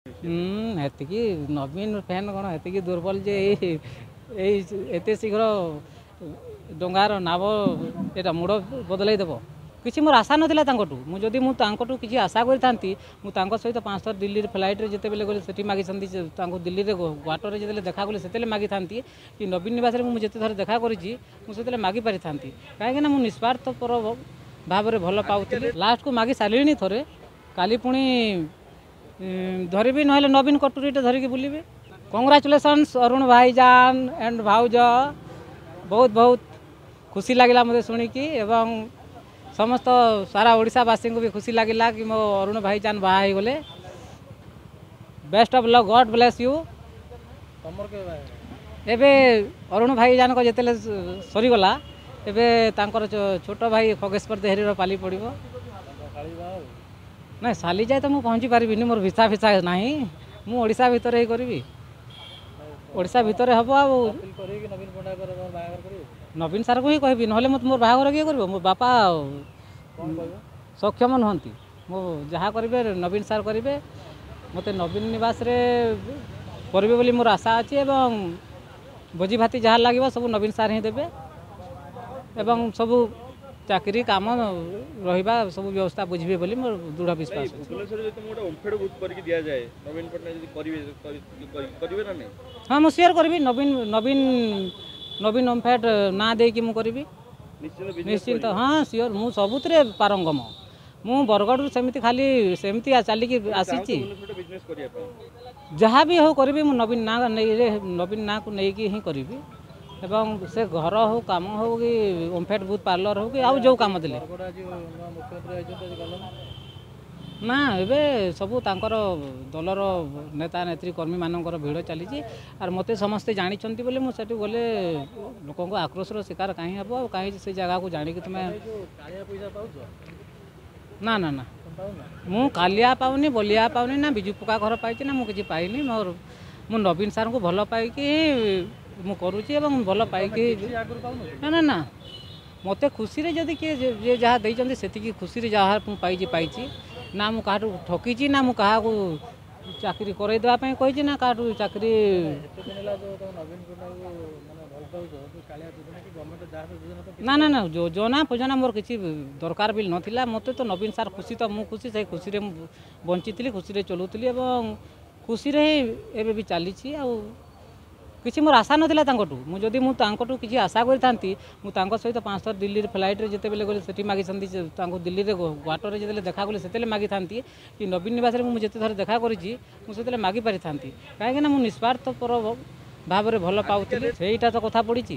ହେତିକି ନବୀନ ଫ୍ୟାନ୍ କ'ଣ ହେତିକି ଦୁର୍ବଳ ଯେ ଏଇ ଏଇ ଏତେ ଶୀଘ୍ର ଡଙ୍ଗାର ନାବ ଏଇଟା ମୋଡ଼ ବଦଳାଇ ଦେବ? କିଛି ମୋର ଆଶା ନଥିଲା ତାଙ୍କଠୁ। ମୁଁ ଯଦି ମୁଁ ତାଙ୍କଠୁ କିଛି ଆଶା କରିଥାନ୍ତି, ମୁଁ ତାଙ୍କ ସହିତ 5 ଥର ଦିଲ୍ଲୀରେ ଫ୍ଲାଇଟ୍ରେ ଯେତେବେଳେ ଗଲି ସେଠି ମାଗିଛନ୍ତି, ତାଙ୍କୁ ଦିଲ୍ଲୀରେ କ୍ୱାର୍ଟରରେ ଯେତେବେଳେ ଦେଖା କଲି ସେତେବେଳେ ମାଗିଥାନ୍ତି, କି ନବୀନ ନିବାସରେ ମୁଁ ଯେତେ ଥର ଦେଖା କରିଛି ମୁଁ ସେତେବେଳେ ମାଗିପାରିଥାନ୍ତି। କାହିଁକିନା ମୁଁ ନିସ୍ୱାର୍ଥପର ଭାବରେ ଭଲ ପାଉଥିଲି। ଲାଷ୍ଟକୁ ମାଗି ସାରିଲିଣି ଥରେ, କାଲି ପୁଣି ଧରିବି, ନହେଲେ ନବୀନ କଟୁରୀଟା ଧରିକି ବୁଲିବି। କଂଗ୍ରାଚୁଲେସନ୍ସ ଅରୁଣ ଭାଇଜାନ ଆଣ୍ଡ ଭାଉଜ, ବହୁତ ବହୁତ ଖୁସି ଲାଗିଲା ମୋତେ ଶୁଣିକି, ଏବଂ ସମସ୍ତ ସାରା ଓଡ଼ିଶାବାସୀଙ୍କୁ ବି ଖୁସି ଲାଗିଲା କି ମୋ ଅରୁଣ ଭାଇଜାନ ବାହା ହେଇଗଲେ। Best of luck, God bless you. ଏବେ ଅରୁଣ ଭାଇଜାନଙ୍କ ଯେତେବେଳେ ସରିଗଲା, ଏବେ ତାଙ୍କର ଛୋଟ ଭାଇ ଖଗେଶ୍ୱର ଦେହେରୀର ପାଲି ପଡ଼ିବ। ନାଇଁ, ସାଲି ଯାଏ ତ ମୁଁ ପହଞ୍ଚି ପାରିବିନି, ମୋର ଭିସା ଫିସା ନାହିଁ। ମୁଁ ଓଡ଼ିଶା ଭିତରେ ହିଁ କରିବି, ଓଡ଼ିଶା ଭିତରେ ହେବ। ଆଉ ନବୀନ ସାର୍ଙ୍କୁ ହିଁ କହିବି, ନହେଲେ ମୋତେ ମୋର ବାହାଘର କିଏ କରିବ? ମୋ ବାପା ସକ୍ଷମ ନୁହନ୍ତି। ମୁଁ ଯାହା କରିବେ ନବୀନ ସାର୍ କରିବେ। ମୋତେ ନବୀନ ନିବାସରେ କରିବେ ବୋଲି ମୋର ଆଶା ଅଛି, ଏବଂ ଭୋଜି ଭାତି ଯାହା ଲାଗିବ ସବୁ ନବୀନ ସାର୍ ହିଁ ଦେବେ, ଏବଂ ସବୁ ଚାକିରି କାମ ରହିବା ସବୁ ବ୍ୟବସ୍ଥା ବୁଝିବେ ବୋଲି ମୋର ଦୃଢ଼ ବିଶ୍ୱାସ ଅଛି। ହଁ, ମୁଁ ସିଓର କରିବି। ନବୀନ ନବୀନ ନବୀନ ଓମ୍ଫେଡ୍ ନାଁ ଦେଇକି ମୁଁ କରିବି ନିଶ୍ଚିନ୍ତ। ହଁ, ସିଓର, ମୁଁ ସବୁଥିରେ ପାରଙ୍ଗମ। ମୁଁ ବରଗଡ଼ରୁ ସେମିତି ଖାଲି ସେମିତି ଚାଲିକି ଆସିଛି। ଯାହା ବି ହଉ କରିବି, ମୁଁ ନବୀନ ନାଁ ନେଇ, ନବୀନ ନାଁକୁ ନେଇକି ହିଁ କରିବି, ଏବଂ ସେ ଘର ହଉ, କାମ ହଉ, କି ଓମ୍ଫେଡ୍ ବୁଥ୍ ପାର୍ଲର ହଉ, କି ଆଉ ଯେଉଁ କାମ ଦେଲେ ନା। ଏବେ ସବୁ ତାଙ୍କର ଦଳର ନେତା ନେତ୍ରୀ କର୍ମୀମାନଙ୍କର ଭିଡ଼ ଚାଲିଛି, ଆର୍ ମୋତେ ସମସ୍ତେ ଜାଣିଛନ୍ତି ବୋଲି ମୁଁ ସେଠି ଗଲେ ଲୋକଙ୍କ ଆକ୍ରୋଶର ଶିକାର କାହିଁ ହେବ? ଆଉ କାହିଁ ସେ ଜାଗାକୁ ଜାଣିକି ତୁମେ? ନା ନା ନା, ମୁଁ କାଲିଆ ପାଉନି, ବଲିଆ ପାଉନି, ନା ବିଜୁ ପକ୍କା ଘର ପାଇଛି, ନା ମୁଁ କିଛି ପାଇନି। ମୋର ମୁଁ ନବୀନ ସାର୍ଙ୍କୁ ଭଲ ପାଇକି ମୁଁ କରୁଛି, ଏବଂ ଭଲ ପାଇକି। ନା ନା ନା, ମୋତେ ଖୁସିରେ ଯଦି କିଏ ଯିଏ ଯାହା ଦେଇଛନ୍ତି ସେତିକି ଖୁସିରେ ଯାହା ମୁଁ ପାଇଛି ପାଇଛି। ନା ମୁଁ କାହାଠୁ ଠକିଛି, ନା ମୁଁ କାହାକୁ ଚାକିରି କରାଇଦେବା ପାଇଁ କହିଛି, ନା କାହାଠୁ ଚାକିରି। ନା ନା ନା, ଯୋଜନା ଫୋଜନା ମୋର କିଛି ଦରକାର ବି ନଥିଲା। ମୋତେ ତ ନବୀନ ସାର୍ ଖୁସି ତ ମୁଁ ଖୁସି, ସେଇ ଖୁସିରେ ମୁଁ ବଞ୍ଚିଥିଲି, ଖୁସିରେ ଚଲୁଥିଲି, ଏବଂ ଖୁସିରେ ହିଁ ଏବେ ବି ଚାଲିଛି। ଆଉ କିଛି ମୋର ଆଶା ନଥିଲା ତାଙ୍କଠୁ। ମୁଁ ଯଦି ମୁଁ ତାଙ୍କଠୁ କିଛି ଆଶା କରିଥାନ୍ତି, ମୁଁ ତାଙ୍କ ସହିତ 5 ଥର ଦିଲ୍ଲୀରେ ଫ୍ଲାଇଟ୍ରେ ଯେତେବେଳେ ଗଲି ସେଠି ମାଗିଛନ୍ତି, ତାଙ୍କୁ ଦିଲ୍ଲୀରେ କ୍ୱାର୍ଟରରେ ଯେତେବେଳେ ଦେଖା କଲି ସେତେବେଳେ ମାଗିଥାନ୍ତି, କି ନବୀନ ନିବାସରେ ମୁଁ ଯେତେ ଥର ଦେଖା କରିଛି ମୁଁ ସେତେବେଳେ ମାଗିପାରିଥାନ୍ତି। କାହିଁକିନା ମୁଁ ନିସ୍ୱାର୍ଥପର ଭାବରେ ଭଲ ପାଉଥିଲି। ସେଇଟା ତ କଥା ପଡ଼ିଛି।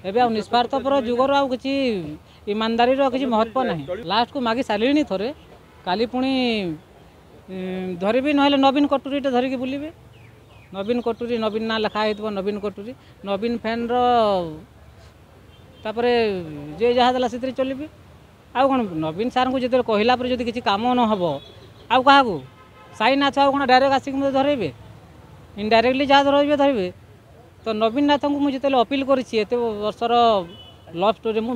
ଏବେ ଆଉ ନିସ୍ୱାର୍ଥପର ଯୁଗର ଆଉ କିଛି ଇମାନଦାରୀର କିଛି ମହତ୍ତ୍ୱ ନାହିଁ। ଲାଷ୍ଟକୁ ମାଗି ସାରିଲିଣି ଥରେ, କାଲି ପୁଣି ଧରିବି, ନହେଲେ ନବୀନ କଟୁରୀଟା ଧରିକି ବୁଲିବି। ନବୀନ କଟୁରୀ, ନବୀନ ନାଁ ଲେଖା ହେଇଥିବ, ନବୀନ କଟୁରୀ, ନବୀନ ଫ୍ୟାନ୍ର, ତାପରେ ଯିଏ ଯାହା ଦେଲା ସେଥିରେ ଚଲିବି। ଆଉ କ'ଣ? ନବୀନ ସାର୍ଙ୍କୁ ଯେତେବେଳେ କହିଲା ପରେ ଯଦି କିଛି କାମ ନ ହେବ, ଆଉ କାହାକୁ? ସାଇନାଥ ଆଉ କ'ଣ ଡାଇରେକ୍ଟ ଆସିକି ମୋତେ ଧରେଇବେ? ଇନଡାଇରେକ୍ଟଲି ଯାହା ଧରେଇବେ ଧରିବେ। ତ ନବୀନ ନାଥଙ୍କୁ ମୁଁ ଯେତେବେଳେ ଅପିଲ୍ କରିଛି ଏତେ ବର୍ଷର ଲଭ୍ ଷ୍ଟୋରି, ମୁଁ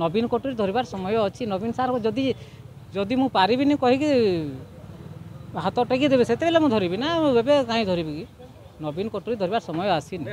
ନବୀନ କଟୁରୀ ଧରିବାର ସମୟ ଅଛି। ନବୀନ ସାର୍ଙ୍କୁ ଯଦି ଯଦି ମୁଁ ପାରିବିନି କହିକି ହାତ ଟେକି ଦେବେ, ସେତେବେଳେ ମୁଁ ଧରିବି ନା, ଏବେ କାହିଁ ଧରିବି କି? ନବୀନ କଟୁରୀ ଧରିବାର ସମୟ ଆସିନି।